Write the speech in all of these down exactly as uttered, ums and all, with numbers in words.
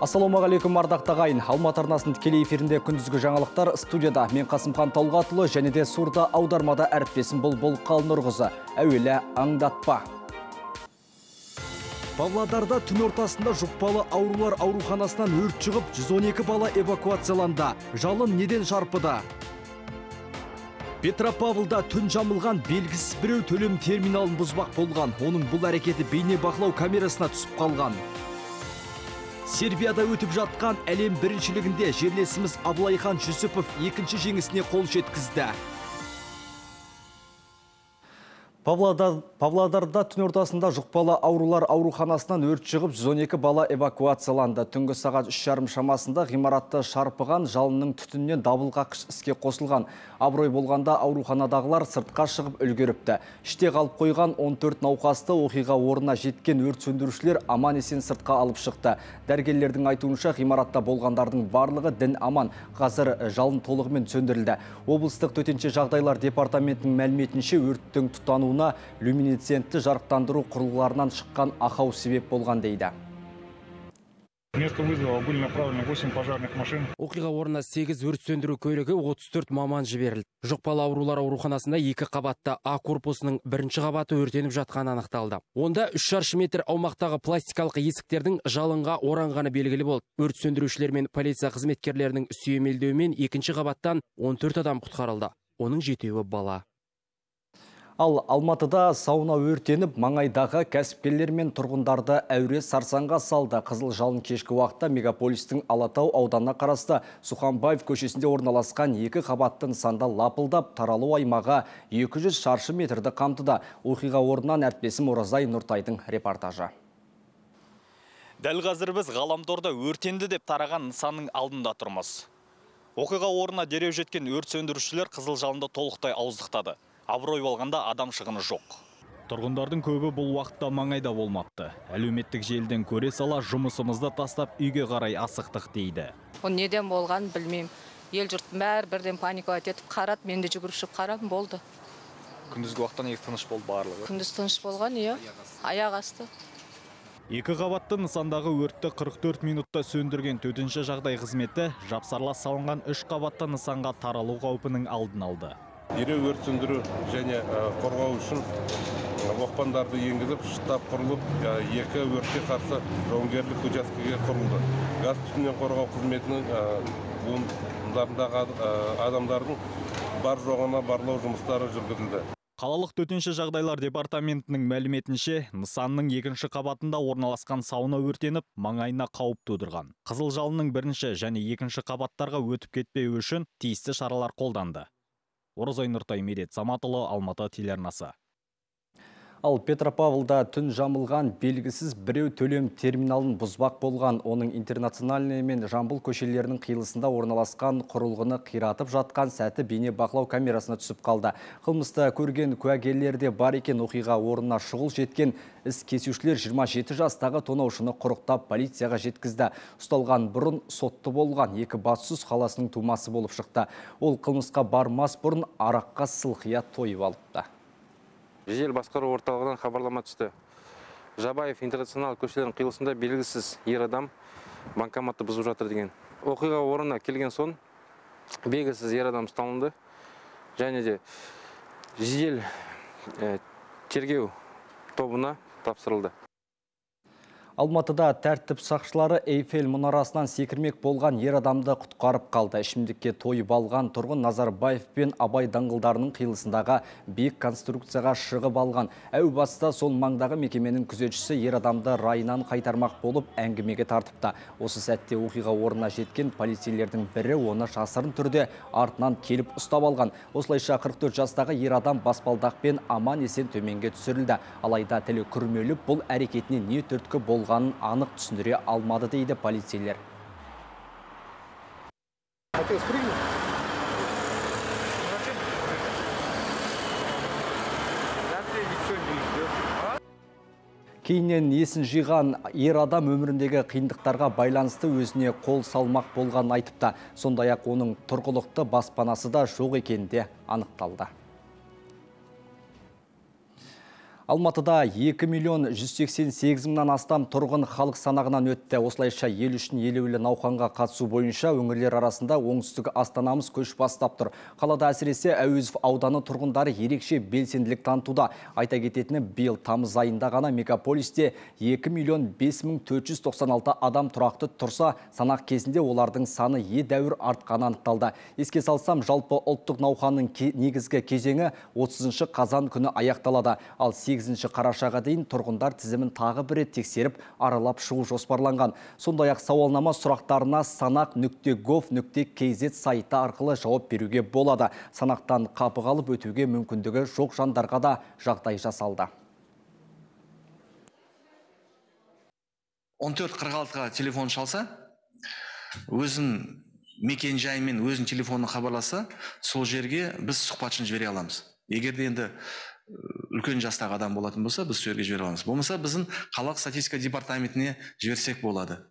Ассалаумағалейкум ардақты ағайын. Алматы арнасының тікелей эфирінде күндізгі жаңалықтар. Студияда мен Қасымхан Талғатұлы және де сурда аудармада әріптесім Бұлбұл Қалнұрғызы. Әуелі аңдатпа. Павлодарда түн ортасында жұқпалы аурулар ауруханасынан өрт шығып, жүз он екі бала эвакуацияланды. Жалын неден шарпыды? Петропавлда түн жамылған белгісіз біреу төлем терминалын бұзбақ болған. Оның бұл әрекеті бейне бақылау камерасына түсіп қалған. Сербияда өтіп жатқан әлем біріншілігінде жерлесіміз Абылайхан Жүсіпов екінші жеңісіне қол жеткізді. Павлодарда түн ортасында жұқпалы аурулар ауруханасынан өрт шығып, жүз он екі бала эвакуацияланды. Түнгі сағат үш жарым шамасында ғимаратты шарпыған жалынның түтіннен дабылғаққыш іске қосылған. Абырой болғанда ауруханадағылар сыртқа шығып үлгеріпті. Іште қалып қойған он төрт науқасты оқиға орнына жеткен өрт сөндірушілер аман есен сыртқа алып шықты. Дәрігерлердің айтуынша ғимаратта болғандардың барлығы дін аман. Қазір жалын толығымен сөндірілді. Облыстық төтенше жағдайлар департаментінің мәліметінше өрттің тұтануына люминесцентті жарықтандыру құрылғыларынан шыққан ақау себеп болған дейді. Место вызова были направлены восемь пожарных машин. Оқиға орнына сегіз өрт сөндіру көлігі, отыз төрт маман жіберілді. Жұқпалы аурулар ауруханасында екі қабатта А корпусының бірінші қабаты өртеніп жатқаны анықталды. Онда үш шаршы метр аумақтағы пластикалық есіктердің жалынға оранғаны белгілі болды. Өрт сөндірушілер мен полиция қызметкерлерінің сүйемелдеуімен екінші қабаттан он төрт адам құтқарылды. Оның жетеуі бала. Ал Алматыда сауна өртеніп, маңайдағы кәсіпкерлер мен тұрғындарды әуре сарсаңға салды. Қызыл жалын кешкі уақытта мегаполистің Алатау ауданына қарасты Суханбаев көшесінде орналасқан екі қабатты нысанда лапылдап, таралу аймағы екі жүз шаршы метрді қамтыды. Оқиға орнынан әріптесім Оразай Нұртайдың репортажы. Дәл қазір біз ғаламторда өртенді деп тараған нысанның алдында тұрмыз. Оқиға орнына дереу жеткен өрт сөндірушілер қызыл жалынды толықтай ауыздықтады. Абырой болғанда адам шығыны жоқ. Тұрғындардың көбі бұл уақытта маңайда болмапты. Әлеуметтік желіден көре сала жұмысымызды тастап үйге қарай асықтық дейді. Ол неден болған білмеймін. Ел жұрт бәрі бірден паникалап етіп қарады, мен де жүгіріп шығып қарадым, болды. Күндізгі уақытта неге тыныш болды барлығы? Күндіз тыныш болған, иә. Аяқ асты. Екі қабатты нысандағы өртті қырық төрт минутта сөндірген төтенше жағдай қызметі жапсарлас салынған үш қабатты нысанға таралу қаупінің алдын алды. Дереу өрт сөндіру және қорғау үшін оқпандарды енгізіп, штаб құрылып, екі өртке қарсы жауынгерлік учаскеге құрылды. Газ түтіннен қорғау қызметінің буындарындағы адамдардың бар жоғына барлау жұмыстары жүргізілді. Қалалық төтенше жағдайлар департаментінің мәліметінше, нысанның екінші қабатында орналасқан сауна өртеніп, маңайына қауіп тудырған. Қызыл жалынның бірінші және екінші қабаттарға өтіп кетпеуі үшін тиісті шаралар қолданды. Оразай Нұртай, Медет Саматұлы, Алматы телеарнасы. Ал Петропавлда түн жамылған белгісіз біреу төлем терминалын бұзбақ болған. Оның Интернациональный мен Жамбыл көшелерінің қиылысында орналасқан құрылғыны қиратып жатқан сәті бейне бақылау камерасына түсіп қалды. Қылмысты көрген куәгерлерде бар екен. Оқиға орнына шұғыл жеткен іс кесушілер жиырма жеті жастағы тонаушыны құрықтап полицияға жеткізді. Ұсталған бұрын сотты болған екі Бассыз қаласының тумасы болып шықты. Ол қылмысқа бармас бұрын араққа сылқия тойып алыпты. Жедел басқару орталығынан хабарлама түсті. Жабаев Интернационал көшелерінің қиылысында белгісіз ер адам банкоматты бұзып жатыр деген. Оқиға орнына келген соң белгісіз ер адам ұсталынды және де жедел тергеу тобына тапсырылды. Алматыда тәртіп сақшылары Эйфель мұнарасынан секірмек болған ер адамды құтқарып қалды. Ішімдікке тойып алған тұрғын Назарбаев пен Абай даңғылдарының қиылысындағы биік конструкцияға шығып алған. Әу баста сол маңдағы мекеменің күзетшісі ер адамды райынан қайтармақ болып әңгімеге тартыпты. Осы сәтте оқиға орнына жеткен полицейлердің бірі оны жасырын түрде артынан келіп ұстап алған. Осылайша қырық төрт жастағы ер адам баспалдақпен аман есен төменге түсірілді. Алайда тілі күрмеліп, бұл әрекетіне не түрткі болғанын анық түсіндіре алмады дейді полицейлер. Кейіннен есін жиған ер адам өміріндегі қиындықтарға байланысты өзіне қол салмақ болған айтыпты. Сондай-ақ оның тұрғылықты баспанасы да жоқ екені де анықталды. Алматыда екі миллион жүз сексен сегіз мыңнан астам тұрғын халық санағынан өтті. Осылайша ел үшін елеулі науқанға қатысу бойынша өңірлер арасында оңтүстік Астанамыз көш бастап тұр. Қалада әсіресе Әуезов ауданы тұрғындары ерекше белсенділік танытуда. Айта кететіні, биыл тамыз айында ғана мегаполисте екі миллион бес мың төрт жүз тоқсан алты адам тұрақты тұрса, санақ кезінде олардың саны едәуір артқаны анықталды. Еске салсам, жалпы ұлттық науқанның негізгі кезеңі отызыншы қазан күні аяқталады. Ал сегізінші қарашаға дейін тұрғындар тізімін тағы бір рет тексеріп, аралап шығу жоспарланған. Сондай-ақ сауалнама сұрақтарына санақ нүкте гов нүкте кз сайты арқылы жауап беруге болады. Санақтан қапы қалып өтуге мүмкіндігі жоқ жандарға да жағдай жасалды. он төрт қырық алтыға телефон шалса, өзін мекен жайымен өзін телефонына хабарласа, сол жерге біз сұхбатшыны жібере аламыз. Егер де енді үлкен жастағы адам болатын болса, біз сол жерге жібере аламыз. Болмаса біздің қалалық статистика департаментіне жіберсек болады,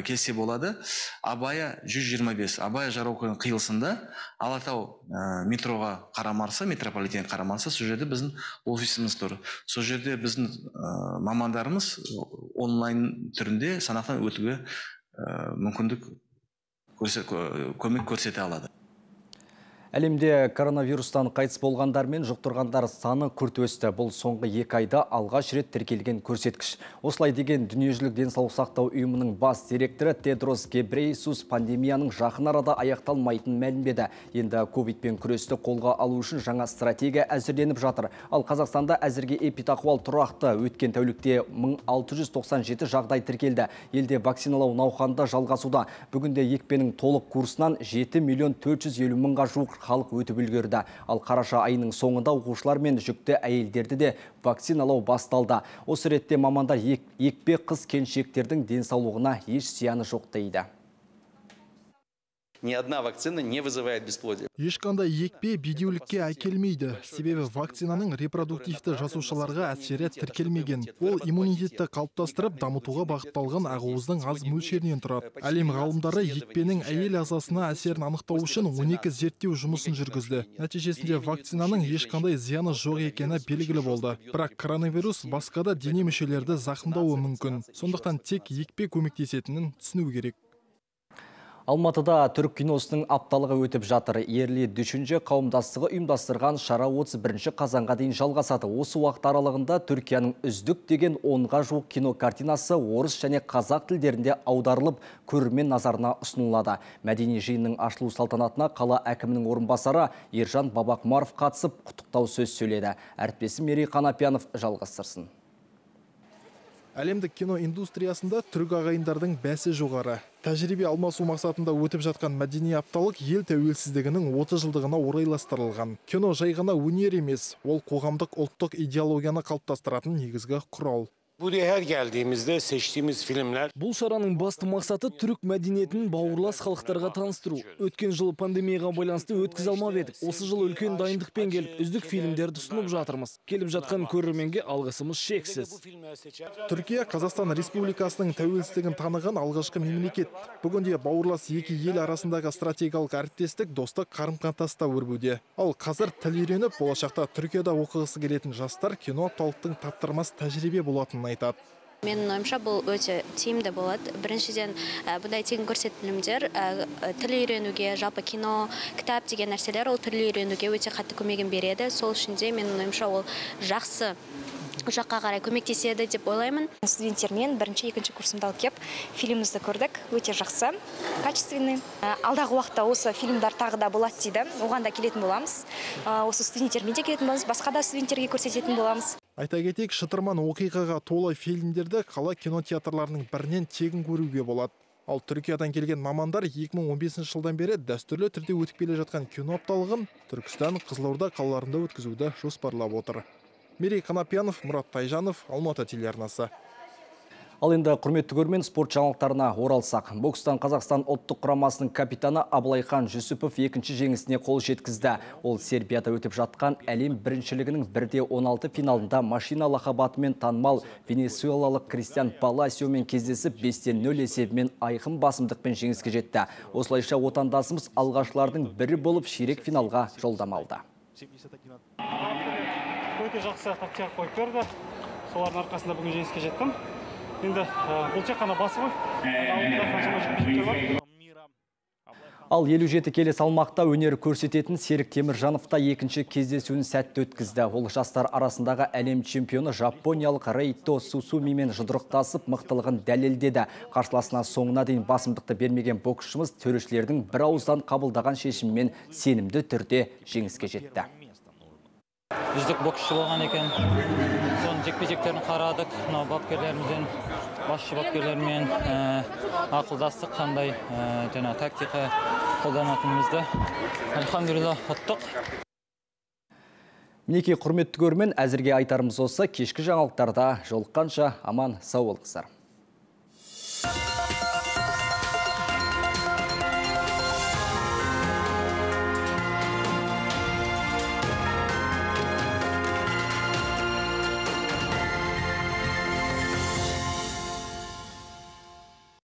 келсе болады. Абая жүз жиырма бес, Абая Жарокойдың қиылысында Алатау метроға қарамарса, метрополитен қарамарса, сол жерде біздің офисіміз тұр. Сол жерде біздің мамандарымыз онлайн түрінде санақтан өтуге мүмкіндік көмек көрсете алады. Әлемде коронавирустан қайтыс болғандар мен жұқтырғандар саны күрт өсті. Бұл соңғы екі айда алғаш рет тіркелген көрсеткіш. Осылай деген дүниежүзілік денсаулық сақтау ұйымының бас директоры Тедрос Гебрейесус пандемияның жақын арада аяқталмайтынын мәлімдеді. Енді ковидпен күресті қолға алу үшін жаңа стратегия әзірленіп жатыр. Ал Қазақстанда әзірге эпидахуал тұрақты. Өткен тәулікте мың алты жүз тоқсан жеті жағдай тіркелді. Елде вакциналау науқанында жалғасуда. Бүгінде екпенің толық курсынан жеті миллион төрт жүз елу мыңға жуық халық өтіп үлгерді. Ал қараша айының соңында оқушылар мен жүкті әйелдерді де вакциналау басталды. Осы ретте мамандар екпе қыз келіншектердің денсаулығына еш зияны жоқ дейді. Ни одна вакцина не вызывает бесплодия. Ешқандай екпе бедеулікке әкелмейді. Себебі вакцинаның репродуктивті жасушаларға әсері тіркелмеген. Ол иммунитетті қалыптастырып, дамытуға бағытталған ақуыздың аз мөлшерінен тұрады. Әлем ғалымдары екпенің әйел ағзасына әсерін анықтау үшін он екі зерттеу жұмысын жүргізді. Нәтижесінде вакцинаның ешқандай зияны жоқ екені белгілі болды. Бірақ коронавирус басқа да дене мүшелерді зақымдауы мүмкін. Сондықтан тек екпе көмектесетінін түсіну керек. Алматыда түрік киносының апталығы өтіп жатыр. Ерлі дүшінже қауымдастығы ұйымдастырған шара отыз бірінші қазанға дейін жалғасады. Осы уақыт аралығында Түркияның үздік деген онға жуық кино картинасы орыс және қазақ тілдерінде аударылып, көрермен назарына ұсынылады. Мәдени жиынның ашылу салтанатына қала әкімінің орынбасары Ержан Бабақмаров қатысып, құттықтау сөз сөйледі. Әріптесім Мерей Қанапиянов жалғастырсын. Әлемдік кино индустриясында түрік ағайындардың бәсі жоғары. Тәжірибе алмасу мақсатында өтіп жатқан мәдени апталық ел тәуелсіздігінің отыз жылдығына орайластырылған. Кино жай ғана өнер емес, ол қоғамдық ұлттық идеологияны қалыптастыратын негізгі құрал. Buraya her geldiğimizde seçtiğimiz filmler... Бұл шараның басты мақсаты түрік мәдениетін бауырлас халықтарға таныстыру. Өткен жыл пандемияға байланысты өткізе алмап едік. Осы жыл үлкен дайындықпен келіп, үздік фильмдерді ұсынып жатырмыз. Келіп жатқан көрерменге алғысымыз шексіз. Түркия Қазақстан Республикасының тәуелсіздігін таныған алғашқы мемлекет. Бүгінде бауырлас екі ел арасындағы стратегиялық әріптестік достық қарым-қатынаста өрбуде. Ал қазір тіл үйреніп, болашақта Түркияда оқығысы келетін жастар кино апталықтың таптырмас тәжірибе болатынын айтады. Менің ойымша бұл өте тиімді болады. Біріншіден, бұндай тегін көрсетілімдер тіл үйренуге, жалпы кино, кітап деген нәрселер ол тіл үйренуге өте қатты көмегін береді. Сол үшін де менің ойымша ол жақсы жаққа қарай көмектеседі деп ойлаймын. Студенттермен бірінші, екінші курсымда алып кеп фильмімізді көрдік. Өте жақсы, качественный. Алдағы уақытта осы фильмдар тағы да болады дейді. Оған да келетін боламыз. Осы студенттермен де келетін боламыз, басқа да студенттерге көрсететін боламыз. Айта кетейік, шытырман оқиғаға толы фильмдерді қала кинотеатрларының бірінен тегін көруге болады. Ал Түркиядан келген мамандар екі мың он бесінші жылдан бері дәстүрлі түрде өтіп келе жатқан кино апталығын Түркістан, Қызылорда қалаларында өткізуді жоспарлап отыр. Мерей Қанапиянов, Мұрат Тайжанов, Алматы телеарнасы. Ал енді құрметті көрермен, спорт жаңалықтарына оралсақ. Бокстан Қазақстан ұлттық құрамасының капитаны Абылайхан Жүсіпов екінші жеңісіне қол жеткізді. Ол Сербияда өтіп жатқан әлем біріншілігінің бірде он алты финалында машина лақабатымен танымал венесуэлалық Кристиан Паласиомен кездесіп бесте нөл есебімен айқын басымдықпен жеңіске жетті. Осылайша отандасымыз алғашылардың бірі болып ширек финалға жолдама алды. өте жақсы тактика қойып берді. Солардың арқасында бүгін жеңіске жеттім. Енді бұл тек қана басы ғой. Алдында қаншама жекпе-жектер бар. Ал елу жеті келі салмақта өнер көрсететін Серік Теміржановта екінші кездесуін сәтті өткізді. Ол жастар арасындағы әлем чемпионы жапониялық Рейто Сусумимен жұдырықтасып мықтылығын дәлелдеді. Қарсыласына соңына дейін басымдықты бермеген боксшымыз төрешілердің бір ауыздан қабылдаған шешімімен сенімді түрде жеңіске жетті. Үздік боксшы болған екен. Соның жекпе-жектерін қарадық. Мынау бапкерлерімізден, басшы бапкерлермен ақылдастық, қандай жаңа тактика қолданатынымызды альхамдулилла ұттық. Мінекей құрметті көрермен, әзірге айтарымыз осы. Кешкі жаңалықтарда жолыққанша аман сау болыңыздар.